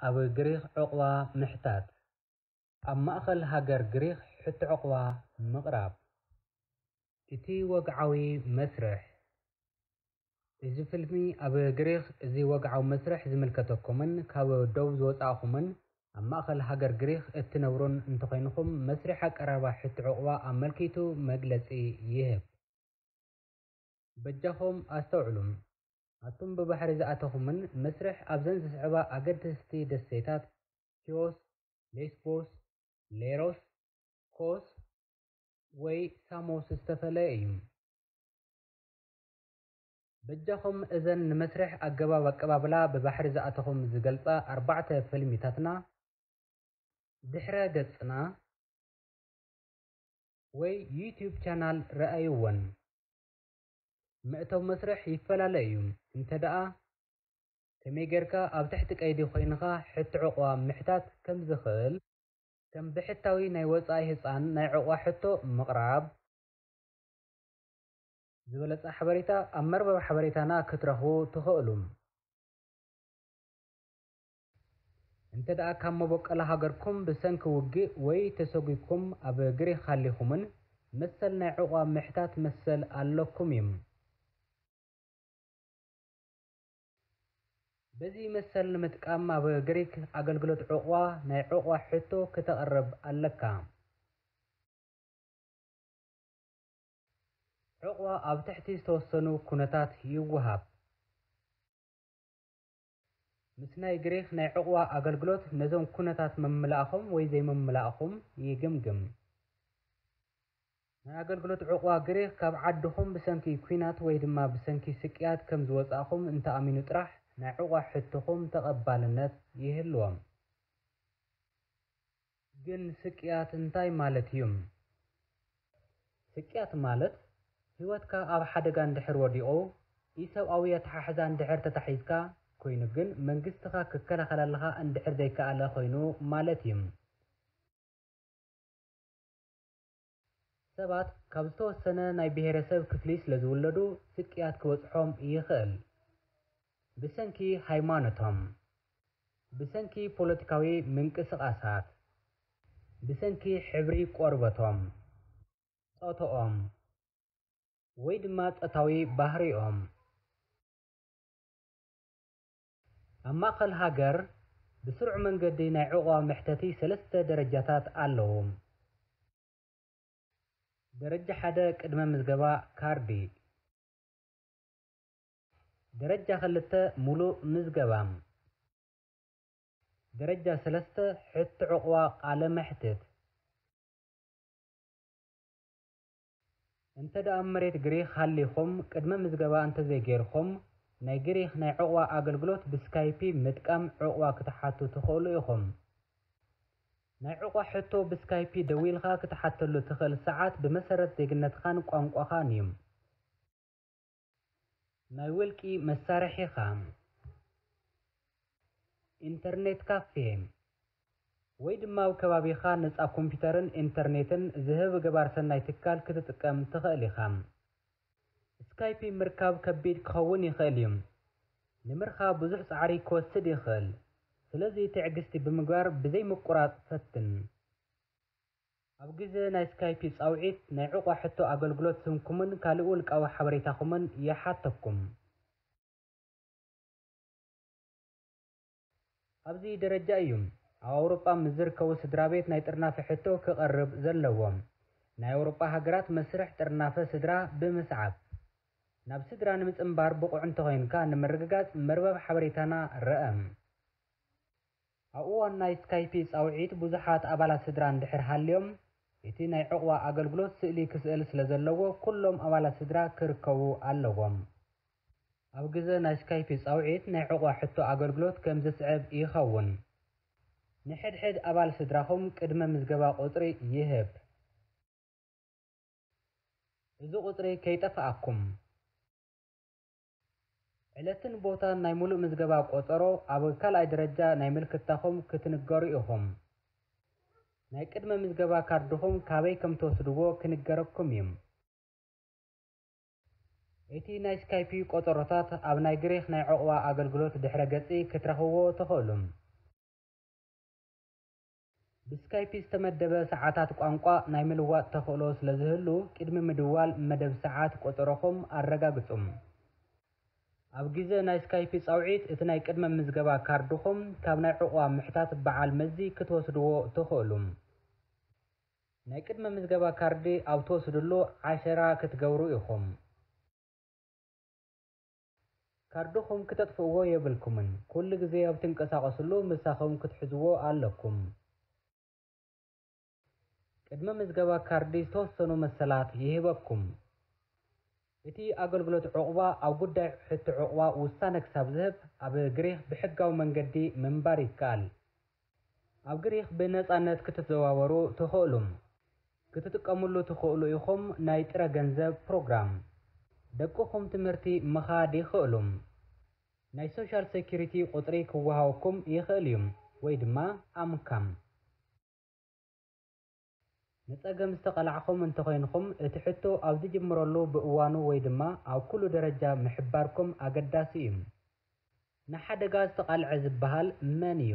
ኣብ ግሪኽ ዑቕባ ምሕታት። ኣብ ማእኸል ሃገር ግሪኽ ሕቶ ዑቕባ ምቕራብ። እቲ ወግዓዊ መስርሕ። እዚ ፊልሚ ኣብ ግሪኽ እዚ ወግዓዊ መስርሕ ዝምልከተኩምን ካብ ደቡብ ዝወጻእኹምን ኣብ ማእኸል ሃገር ግሪኽ እትነብሩን እንተኾይንኹም መስርሕ ኣቀራርባ ሕቶ ዑቕባ ኣመልኪቱ መግለጺ ይህብ። በጃኹም ኣስተውዕሉ። ኣቱም ብባሕሪ ዝኣተኹምን መስርሕ ኣብዘን ዝስዕባ ኣገደስቲ ደሴታት ኪዮስ፣ ሌስቦስ፣ ሌሮስ፣ ኮስ ወይ ሳሞስ ዝተፈለየ እዩ። በጃኹም እዘን ንመስርሕ ኣገባብ ኣቀባብላ ብባሕሪ ዝኣተኹም ዝገልጻ ኣርባዕተ ፊልሚታትና ድሕረ ገጽና ወይ ዩቲዩብ ቻናል ረኣይወን። መእተዊ መስርሕ ይፈላለ እዩ። እንተ ደኣ ከመይ ጌርካ ኣብ ትሕቲ ቀይዲ ኮይንኻ ሕቶ ዑቕባ ምሕታት ከም ዝኽእል፣ ከም ብሕታዊ ናይ ወጻኢ ህጻን ናይ ዑቕባ ሕቶ ምቕራብ፣ ዝበለጸ ሓበሬታ ኣብ መርበብ ሓበሬታና ክትረኽቡ ትኽእሉ። እንተ ደኣ ካብ መበቆል ሃገርኩም ብሰንኪ ውግእ ወይ ተሰጒግኩም ኣብ ግሪኽ ሃሊኹምን፣ መሰል ናይ ዑቕባ ምሕታት መሰል ኣለኩም እዩ። በዚ መሰል ንምጥቃም ኣብ ግሪክ ኣገልግሎት ዑቕባ ናይ ዑቕባ ሕቶ ክተቕርብ ኣለካ። ዑቕባ ኣብ ትሕቲ ዝተወሰኑ ኩነታት ይወሃብ። ምስ ናይ ግሪክ ናይ ዑቕባ ኣገልግሎት ነዞም ኩነታት ምምላእኹም ወይ ዘይምምላእኹም ይግምግም። ናይ ኣገልግሎት ዑቕባ ግሪክ ካብ ዓድኹም ብሰንኪ ኲናት ወይ ድማ ብሰንኪ ስቅያት ከም ዝወጻእኹም እንተኣሚኑ ጥራሕ ናይ ዑቕባ ሕቶኹም ተቐባልነት ይህልዎም። ግን ስቅያት እንታይ ማለት እዩ? ስቅያት ማለት ህይወትካ ኣብ ሓደጋ እንድሕር ወዲቑ፣ ኢሰብኣዊ ኣተሓሕዛ እንድሕር ተታሒዝካ ኮይኑ ግን መንግስትኻ ክከላኸለልኻ እንድሕር ዘይከኣለ ኮይኑ ማለት እዩ። ሰባት ካብ ዝተወሰነ ናይ ብሄረሰብ ክፍሊ ስለ ዝውለዱ ስቅያት ክበጽሖም ይኽእል። ብሰንኪ ሃይማኖቶም፣ ብሰንኪ ፖለቲካዊ ምንቅስቓሳት፣ ብሰንኪ ሕብሪ ቆርበቶም፣ ጾታኦም፣ ወይ ድማ ጾታዊ ባህሪኦም። ኣብ ማእከል ሃገር ብስሩዕ መንገዲ ናይ ዑቕባ መሕተቲ ሰለስተ ደረጃታት ኣለዉ። ደረጃ ሓደ ቅድመ ምዝገባ ካርዲ። ደረጃ ክልተ ሙሉእ ምዝገባ። ደረጃ ሰለስተ ሕቶ ዑቕባ ቃለ መሕትት። እንተ ደኣ ኣብ መሬት ግሪኽ ሃሊኹም ቅድመ ምዝገባ እንተዘይጌርኩም፣ ናይ ግሪኽ ናይ ዑቕባ ኣገልግሎት ብስካይፒ ምጥቃም ዑቕባ ክትሓቱ ትኽእሉ ኢኹም። ናይ ዑቕባ ሕቶ ብስካይፒ ደዊልኻ ክትሓተሉ ትኽእል ሰዓት ብመሰረት ዜግነትኻን ቋንቋኻን እዩ። ናይ ውልቂ መሳርሒኻ። ኢንተርኔት ካፌ ወይ ድማ ኣብ ከባቢኻ ነጻ ኮምፒተርን ኢንተርኔትን ዝህብ ገባር ሰናይ ትካል ክትጥቀም ትኽእል ኢኻ። ስካይፒ ምርካብ ከቢድ ክኸውን ይኽእል እዩ። ንምርኻብ ብዙሕ ጻዕሪ ክወስድ ይኽእል። ስለዚ ትዕግስቲ ብምግባር ብዘይ ምቁራጽ ፈትን። ኣብ ግዜ ናይ ስካይፒ ጻውዒት ናይ ዑቕባ ሕቶ ኣገልግሎት ስምኩምን ካልእ ውልቃዊ ሓበሬታኹምን ይሓተኩም። ኣብዚ ደረጃ እዩ ኣብ ኣውሮጳ ምስ ዝርከቡ ስድራ ቤት ናይ ጥርናፈ ሕቶ ክቐርብ ዘለዎ። ናይ ኣውሮጳ ሃገራት መስርሕ ጥርናፈ ስድራ ብምስዓብ፣ ናብ ስድራ ንምጽንባር ብቑዕ እንተኾይንካ ንምርግጋጽ መርበብ ሓበሬታና ርአ። ኣብ እዋን ናይ ስካይፒ ጻውዒት ብዙሓት ኣባላት ስድራ እንድሕር ሃልዮም፣ እቲ ናይ ዑቕባ ኣገልግሎት ስእሊ ክስእል ስለ ዘለዎ፣ ኩሎም ኣባላት ስድራ ክርከቡ ኣለዎም። ኣብ ግዜ ናይ ስካይፒ ጻውዒት ናይ ዑቕባ ሕቶ ኣገልግሎት ከም ዝስዕብ ይኸውን። ንሕድሕድ ኣባል ስድራኹም ቅድመ ምዝገባ ቁጽሪ ይህብ። እዚ ቁጽሪ ከይጠፍኣኩም። ዕለትን ቦታን ናይ ሙሉእ ምዝገባ ቆጸሮ ኣብ ካልኣይ ደረጃ ናይ ምልክታኹም ክትንገሩ ኢኹም። ናይ ቅድመ ምዝገባ ካርድኹም ካበይ ከም ትወስድዎ ክንገረኩም እዩ። እቲ ናይ ስካይፒ ቆጸሮታት ኣብ ናይ ግሪኽ ናይ ዑቕባ ኣገልግሎት ድሕረ ገጽ ክትረኽብዎ ትኽእሉ። ብስካይፕ ዝተመደበ ሰዓታት ቋንቋ ናይ ምልዋጥ ተኽእሎ ስለ ዝህሉ፣ ቅድሚ ምድዋል መደብ ሰዓት ቆጸሮኹም ኣረጋግጹ። ኣብ ግዜ ናይ ስካይፕ ጻውዒት፣ እቲ ናይ ቅድመ ምዝገባ ካርድኹም ካብ ናይ ዕቑባ ምሕታት በዓል መዚ ክትወስድዎ ትኽእሉ። ናይ ቅድመ ምዝገባ ካርዲ ኣብ ትወስድሉ ዓሸራ ክትገብሩ ኢኹም። ካርድኹም ክተጥፍእዎ የብልኩምን። ኩሉ ግዜ ኣብ ትንቀሳቐስሉ ምሳኹም ክትሕዝዎ ኣለኩም። ቅድመ ምዝገባ ካርዲ ዝተወሰኑ መሰላት ይህበኩም። እቲ ኣገልግሎት ዕቑባ ኣብ ጉዳይ ሕቶ ዕቑባ ውሳነ ክሳብ ዝህብ፣ ኣብ ግሪኽ ብሕጋዊ መንገዲ ምንባር ይከኣል። ኣብ ግሪኽ ብነጻነት ክትዘዋወሩ ትኽእሉ። ክትጥቀምሉ ትኽእሉ ኢኹም ናይ ጥረ ገንዘብ ፕሮግራም። ደቅኹም ትምህርቲ ምኻድ ይኽእሉ። ናይ ሶሻል ሴኩሪቲ ቁጽሪ ክወሃበኩም ይኽእል እዩ፣ ወይ ድማ ኣምካም። ንጸገም ዝተቐላዕኹም እንተኾይንኹም፣ እቲ ሕቶ ኣብ ዝጅምረሉ ብእዋኑ ወይ ድማ ኣብ ኩሉ ደረጃ ምሕባርኩም ኣገዳሲ እዩ። ንሓደጋ ዝተቓልዐ ዝበሃል መን እዩ?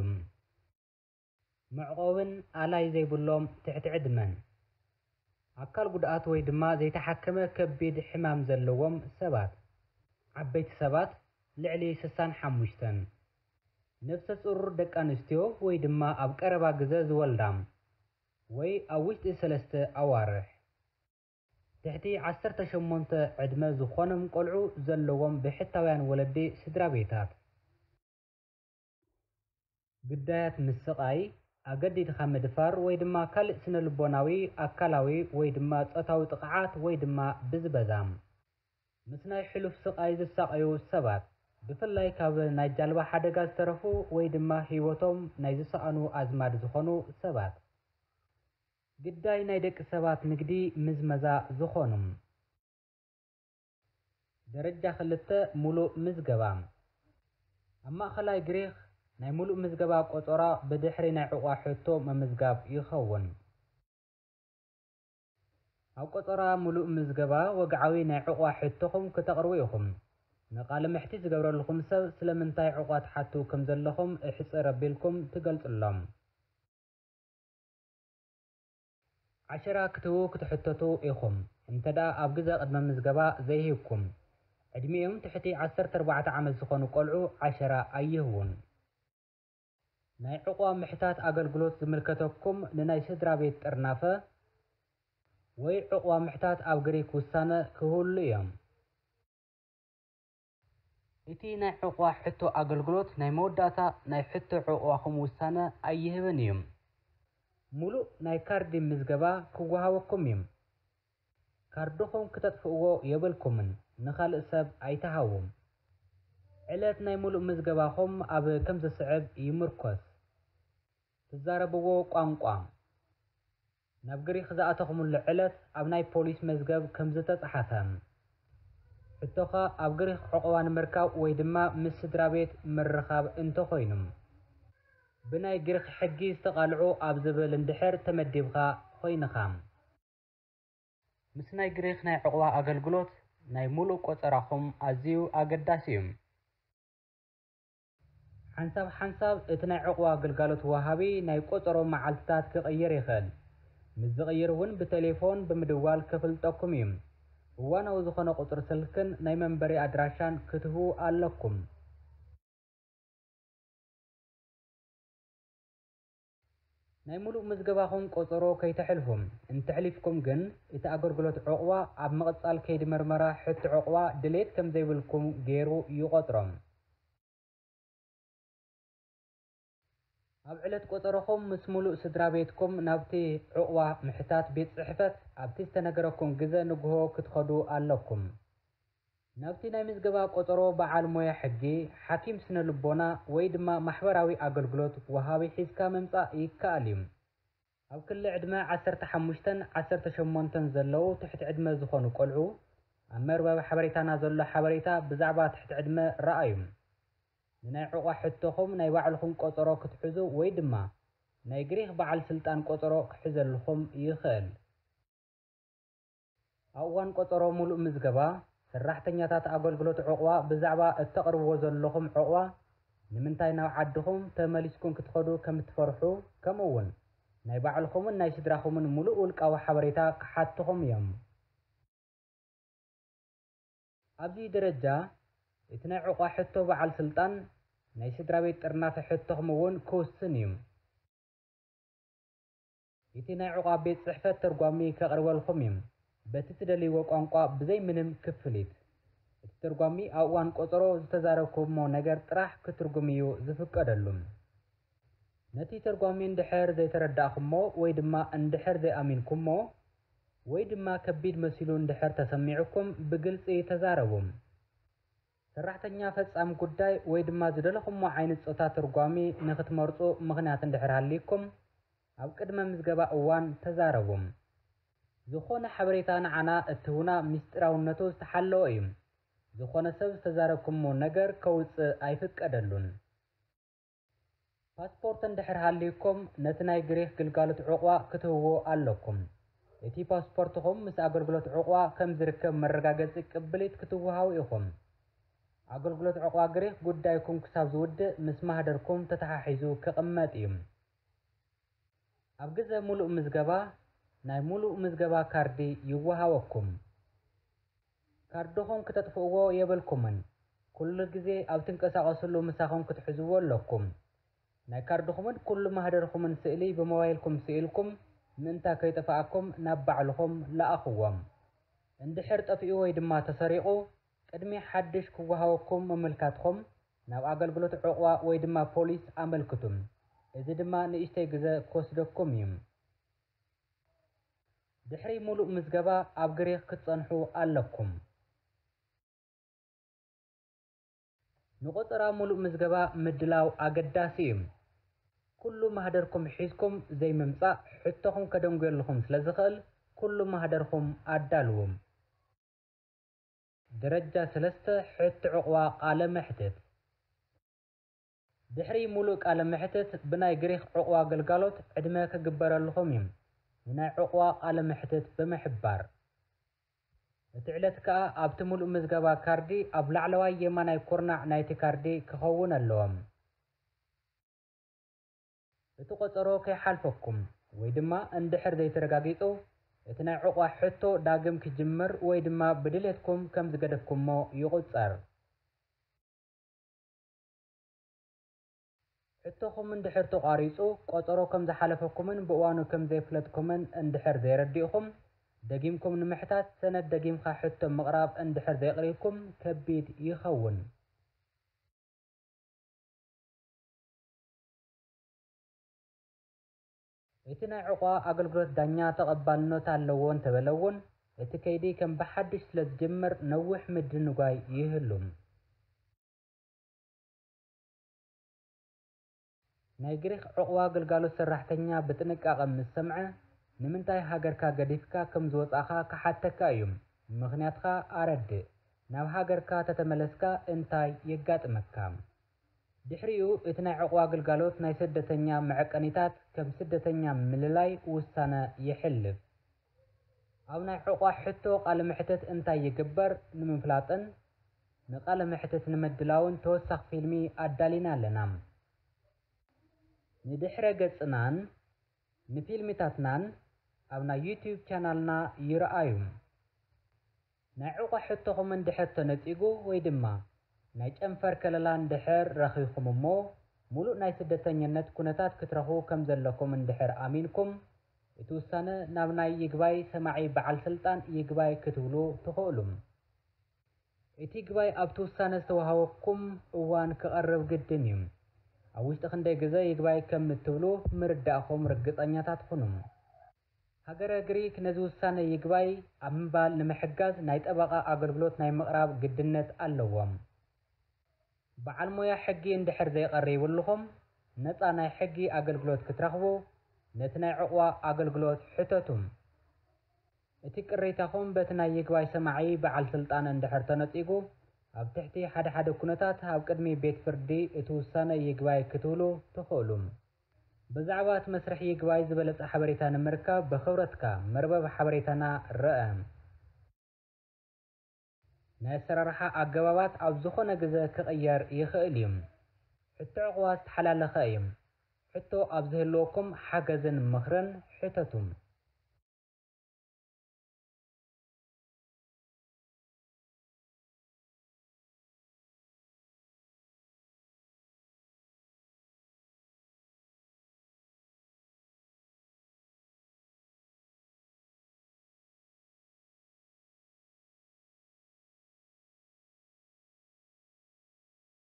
መዕቆብን ኣላይ ዘይብሎም ትሕቲ ዕድመን። ኣካል ጉድኣት ወይ ድማ ዘይተሓከመ ከቢድ ሕማም ዘለዎም ሰባት። ዓበይቲ ሰባት ልዕሊ ስሳን ሓሙሽተን። ነፍሰ ጹር ደቂ ኣንስትዮ ወይ ድማ ኣብ ቀረባ ግዘ ዝወልዳ ወይ ኣብ ውሽጢ ሰለስተ ኣዋርሕ። ትሕቲ ዓሰርተ ሸሞንተ ዕድመ ዝኾኖም ቆልዑ ዘለዎም ብሕታውያን ወለዲ ስድራ ቤታት። ግዳያት ምስቓይ፣ ኣገዲድኻ ምድፋር ወይ ድማ ካልእ ስነ ልቦናዊ፣ ኣካላዊ ወይ ድማ ጾታዊ ጥቕዓት ወይ ድማ ብዝበዛ። ምስ ናይ ሕሉፍ ስቓይ ዝሳቐዩ ሰባት፣ ብፍላይ ካብ ናይ ጃልባ ሓደጋ ዝተረፉ ወይ ድማ ህይወቶም ናይ ዝሰኣኑ ኣዝማድ ዝኾኑ ሰባት። ግዳይ ናይ ደቂ ሰባት ንግዲ ምዝመዛ ዝኾኑ። ደረጃ ክልተ፣ ሙሉእ ምዝገባ። ኣብ ማእኸላይ ግሪኽ ናይ ሙሉእ ምዝገባ ቆጸራ ብድሕሪ ናይ ዕቑባ ሕቶ ምምዝጋብ ይኸውን። ኣብ ቆጸራ ሙሉእ ምዝገባ ወግዓዊ ናይ ዕቑባ ሕቶኹም ክተቕርቡ ኢኹም። ንቃለ መሕትት ዝገብረልኹም ሰብ ስለምንታይ ዕቑባ ትሓቱ ከም ዘለኹም እሕጽር ኣቢልኩም ትገልጹሎም። ዓሸራ ክትህቡ ክትሕተቱ ኢኹም። እንተ ደኣ ኣብ ግዘ ቅድመ ምዝገባ ዘይሂብኩም፣ ዕድሚኦም ትሕቲ ዓሰርተ ኣርባዕተ ዓመት ዝኾኑ ቆልዑ ዓሸራ ኣይህቡን። ናይ ዕቑባ ምሕታት ኣገልግሎት ዝምልከተኩም ንናይ ስድራ ቤት ጥርናፈ ወይ ዕቑባ ምሕታት ኣብ ግሪክ ውሳነ ክህሉ እዮም። እቲ ናይ ዕቑባ ሕቶ ኣገልግሎት ናይ መወዳእታ ናይ ሕቶ ዕቑባኹም ውሳነ ኣይህብን እዩ። ሙሉእ ናይ ካርዲ ምዝገባ ክወሃበኩም እዩ። ካርድኹም ክተጥፍእዎ የብልኩምን፣ ንኻልእ ሰብ ኣይትሃቡ። ዕለት ናይ ሙሉእ ምዝገባኹም ኣብ ከም ዝስዕብ ይምርኮስ። ትዛረብዎ ቋንቋ። ናብ ግሪኽ ዝኣተኹምሉ ዕለት ኣብ ናይ ፖሊስ መዝገብ ከም ዝተጻሕፈ። ሕቶኻ ኣብ ግሪኽ ዕቑባ ንምርካብ ወይ ድማ ምስ ስድራ ቤት ምርኻብ እንተኾይኑ፣ ብናይ ግሪኽ ሕጊ ዝተቓልዑ ኣብ ዝብል እንድሕር ተመዲብካ ኮይንኻ። ምስ ናይ ግሪኽ ናይ ዕቑባ ኣገልግሎት ናይ ሙሉእ ቆጸራኹም ኣዝዩ ኣገዳሲ እዩ። ሓንሳብ ሓንሳብ እቲ ናይ ዕቑባ ግልጋሎት ወሃቢ ናይ ቆጸሮ መዓልትታት ክቕይር ይኽእል። ምስ ዝቕይር እውን ብቴሌፎን ብምድዋል ከፍልጠኩም እዩ። እዋናዊ ዝኾነ ቁጽሪ ስልክን ናይ መንበሪ ኣድራሻን ክትህቡ ኣለኩም። ናይ ሙሉእ ምዝገባኹም ቆጸሮ ከይተሕልፉ። እንተሕሊፍኩም ግን፣ እቲ ኣገልግሎት ዕቑባ ኣብ ምቕጻል ከይዲ መርመራ ሕቶ ዕቑባ ድሌት ከም ዘይብልኩም ገይሩ ይቖጽሮ። ኣብ ዕለት ቆጸሮኹም ምስ ሙሉእ ስድራ ቤትኩም ናብቲ ዕቑባ ምሕታት ቤት ጽሕፈት ኣብቲ ዝተነገረኩም ግዘ ንግሆ ክትኸዱ ኣለኩም። ናብቲ ናይ ምዝገባ ቆጸሮ በዓል ሞያ ሕጊ፣ ሓኪም ስነ ልቦና ወይ ድማ ማሕበራዊ ኣገልግሎት ወሃቢ ሒዝካ ምምጻእ ይከኣል እዩ። ኣብ ክሊ ዕድመ ዓሰርተ ሓሙሽተን ዓሰርተ ሸሞንተን ዘለዉ ትሕቲ ዕድመ ዝኾኑ ቆልዑ፣ ኣብ መርበብ ሓበሬታና ዘሎ ሓበሬታ ብዛዕባ ትሕቲ ዕድመ ረኣዩ። ንናይ ዕቑባ ሕቶኹም ናይ ባዕልኹም ቆጸሮ ክትሕዙ ወይ ድማ ናይ ግሪኽ በዓል ስልጣን ቆጸሮ ክሕዘልኹም ይኽእል። ኣብ እዋን ቆጸሮ ሙሉእ ምዝገባ፣ ሰራሕተኛታት ኣገልግሎት ዕቑባ ብዛዕባ እተቕርብዎ ዘለኹም ዕቑባ፣ ንምንታይ ናብ ዓድኹም ተመሊስኩም ክትኸዱ ከም እትፈርሑ፣ ከምኡ እውን ናይ ባዕልኹምን ናይ ስድራኹምን ምሉእ ውልቃዊ ሓበሬታ ክሓትኹም እዮም። ኣብዚ ደረጃ፣ እቲ ናይ ዑቕባ ሕቶ በዓል ስልጣን ናይ ስድራ ቤት ጥርናፈ ሕቶኹም እውን ክውስን እዩ። እቲ ናይ ዑቕባ ቤት ጽሕፈት ተርጓሚ ከቕርበልኩም እዩ። በቲ ትደልይዎ ቋንቋ ብዘይ ምንም ክፍሊት። እቲ ተርጓሚ ኣብ እዋን ቆጸሮ ዝተዛረብኩሞ ነገር ጥራሕ ክትርጉም እዩ ዝፍቀደሉ። ነቲ ተርጓሚ እንድሕር ዘይተረዳእኩሞ ወይ ድማ እንድሕር ዘይኣሚንኩሞ ወይ ድማ ከቢድ መሲሉ እንድሕር ተሰሚዑኩም ብግልጺ ተዛረቡ። ሰራሕተኛ ፈጻሚ ጉዳይ ወይ ድማ ዝደለኹሞ ዓይነት ጾታ ተርጓሚ ንኽትመርጹ ምኽንያት እንድሕር ሃልይኩም ኣብ ቅድመ ምዝገባ እዋን ተዛረቡ። ዝኾነ ሓበሬታ ንዓና እትህቡና ምስጢራውነቱ ዝተሓለወ እዩ። ዝኾነ ሰብ ዝተዛረብኩሞ ነገር ከውጽእ ኣይፍቀደሉን። ፓስፖርት እንድሕር ሃልዩኩም፣ ነቲ ናይ ግሪኽ ግልጋሎት ዑቕባ ክትህብዎ ኣለኩም። እቲ ፓስፖርትኹም ምስ ኣገልግሎት ዑቕባ ከም ዝርከብ መረጋገጺ ቅብሊት ክትወሃቡ ኢኹም። ኣገልግሎት ዑቕባ ግሪኽ ጉዳይኩም ክሳብ ዝውድእ ምስ ማህደርኩም ተተሓሒዙ ክቕመጥ እዩ። ኣብ ግዘ ሙሉእ ምዝገባ፣ ናይ ሙሉእ ምዝገባ ካርዲ ይወሃበኩም። ካርድኹም ክተጥፍእዎ የብልኩምን። ኩሉ ግዜ ኣብ ትንቀሳቐስሉ ምሳኹም ክትሕዝዎ ኣለኩም። ናይ ካርድኹምን ኩሉ ማህደርኹምን ስእሊ ብሞባይልኩም ስኢልኩም ምእንታ ከይጠፍኣኩም ናብ ባዕልኹም ለኣኽዎም። እንድሕር ጠፊኡ ወይ ድማ ተሰሪቑ፣ ቅድሚ ሓድሽ ክወሃበኩም ምምልካትኹም ናብ ኣገልግሎት ዑቕባ ወይ ድማ ፖሊስ ኣመልክቱ። እዚ ድማ ንእሽተይ ግዘ ክወስደኩም እዩ። ድሕሪ ሙሉእ ምዝገባ ኣብ ግሪኽ ክትጸንሑ ኣለኩም። ንቆጸራ ሙሉእ ምዝገባ ምድላው ኣገዳሲ እዩ። ኩሉ ማህደርኩም ሒዝኩም ዘይምምጻእ ሕቶኹም ከደንጉየልኹም ስለ ዝኽእል ኩሉ ማህደርኩም ኣዳልዉ። ደረጃ ሰለስተ፣ ሕቶ ዑቕባ ቃለ መሕትት። ድሕሪ ሙሉእ ቃለ መሕትት ብናይ ግሪኽ ዑቕባ ግልጋሎት ዕድመ ክግበረልኹም እዩ። ንናይ ዑቕባ ቃለ መሕትት ብምሕባር፣ እቲ ዕለት ከኣ ኣብቲ ሙሉእ ምዝገባ ካርዲ ኣብ ላዕለዋይ የማናይ ኩርናዕ ናይቲ ካርዲ ክኸውን ኣለዎ። እቲ ቆጸሮ ከይሓልፈኩም ወይ ድማ እንድሕር ዘይተረጋጊጹ፣ እቲ ናይ ዑቕባ ሕቶ ዳግም ክጅምር ወይ ድማ ብድሌትኩም ከም ዝገደፍኩሞ ይቑጸር። ሕቶኹም እንድሕር ተቋሪጹ፣ ቆጸሮ ከም ዝሓለፈኩምን ብእዋኑ ከም ዘየፍለጥኩምን እንድሕር ዘየረዲእኹም፣ ደጊምኩም ንምሕታት ሰነድ ደጊምካ ሕቶ ምቕራብ እንድሕር ዘየቕሪብኩም ከቢድ ይኸውን። እቲ ናይ ዑቕባ ኣገልግሎት ዳኛ ተቐባልነት ኣለዎ እንተበለ እውን፣ እቲ ከይዲ ከም ብሓድሽ ስለ ዝጅምር ነዊሕ ምድንጓይ ይህሉ። ናይ ግሪኽ ዑቕባ ግልጋሎት ሰራሕተኛ ብጥንቃቐ ምስ ሰምዐ፣ ንምንታይ ሃገርካ ገዲፍካ ከም ዝወጻእኻ ክሓተካ እዩ። ምኽንያትካ ኣረድእ። ናብ ሃገርካ ተተመለስካ እንታይ የጋጥመካ? ድሕሪኡ፣ እቲ ናይ ዑቕባ ግልጋሎት ናይ ስደተኛ መዐቀኒታት ከም ስደተኛ ምልላይ ውሳነ የሕልፍ። ኣብ ናይ ዑቕባ ሕቶ ቃለ መሕትት እንታይ ይግበር ንምፍላጥን ንቃለ መሕትት ንምድላውን ተወሳኺ ፊልሚ ኣዳሊና ኣለና። ንድሕረ ገጽናን ንፊልምታትናን ኣብ ናይ ዩትዩብ ቻናልና ይረኣዩ። ናይ ዑቕባ ሕቶኹም እንድሕር ተነጺጉ ወይ ድማ ናይ ጨንፈር ከለላ እንድሕር ረኺብኩም እሞ፣ ሙሉእ ናይ ስደተኝነት ኩነታት ክትረኽቡ ከም ዘለኩም እንድሕር ኣሚንኩም፣ እቲ ውሳነ ናብ ናይ ይግባይ ሰማዒ በዓል ስልጣን ይግባይ ክትብሉ ትኽእሉ። እቲ ይግባይ ኣብቲ ውሳነ ዝተዋህበኩም እዋን ክቐርብ ግድን እዩ። ኣብ ውሽጢ ክንደይ ግዘ ይግባይ ከም እትብሉ ምርዳእኹም ርግጸኛታት ኩኑ። ሃገረ ግሪክ ነዚ ውሳነ ይግባይ ኣብ ምባል ንምሕጋዝ ናይ ጠበቓ ኣገልግሎት ናይ ምቕራብ ግድነት ኣለዎም። በዓል ሞያ ሕጊ እንድሕር ዘይቐሪብልኹም፣ ነጻ ናይ ሕጊ ኣገልግሎት ክትረኽቡ ነቲ ናይ ዑቕባ ኣገልግሎት ሕተቱ። እቲ ቅሬታኹም በቲ ናይ ይግባይ ሰማዒ በዓል ስልጣን እንድሕር ተነጺጉ፣ ኣብ ትሕቲ ሓደ ሓደ ኩነታት ኣብ ቅድሚ ቤት ፍርዲ እቲ ውሳነ ይግባይ ክትብሉ ትኽእሉ። ብዛዕባ እቲ መስርሕ ይግባይ ዝበለጸ ሓበሬታ ንምርካብ ብኽብረትካ መርበብ ሓበሬታና ርአ። ናይ ኣሰራርሓ ኣገባባት ኣብ ዝኾነ ግዘ ክቕየር ይኽእል እዩ። ሕቶ ዑቕባ ዝተሓላለኸ እዩ። ሕቶ ኣብ ዝህልወኩም ሓገዝን ምኽርን ሕተቱ።